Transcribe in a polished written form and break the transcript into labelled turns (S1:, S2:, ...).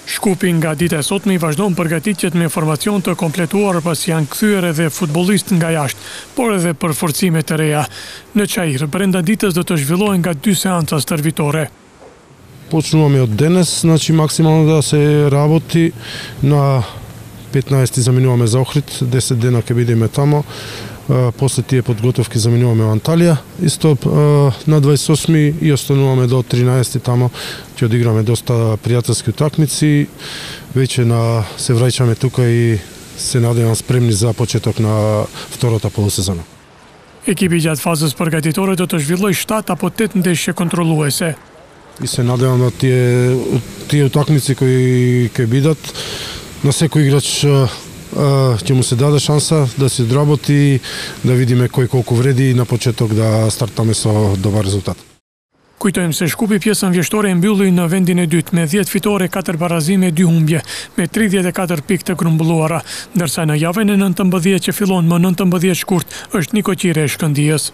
S1: Shkupi nga dita e sotme i vazhdon përgatitjet me formacion të kompletuar pas janë kthyer edhe futbollistë nga jashtë, por edhe për forcime të reja. Në Çajir, brenda ditës do të zhvillohen nga 2 seanca stërvitore.
S2: Почнуваме од денес, значи максимално да се работи. На 15 заминуваме за Охрид, 10 дена ќе бидеме тамо. После тие подготовки заминуваме во Анталија. Исто на 28 и остануваме до 13 тамо. Ќе одиграме доста пријателски утакмици. Веќе се враќаме тука и се надевам спремни за почеток на втората полусезона.
S1: Ekipi gjatë fazës përgatitore do të zhvilloj 7 apo 8 ndeshje kontrolluese.
S2: И се надевам на тие утакмици кои ќе бидат на секој играч ќе му се даде шанса да се одработи, да видиме кој колку вреди и на почеток да стартаме со добар резултат.
S1: Kujtojmë se Shkupi pjesën vjeshtore e mbylli në vendin e dytë me 10 fitore, 4 barazime, 2 humbje, me 34 pikë të grumbulluara, ndërsa në javën e 19 që fillon më 19 shkurt është Niko Qire e Shkëndijës.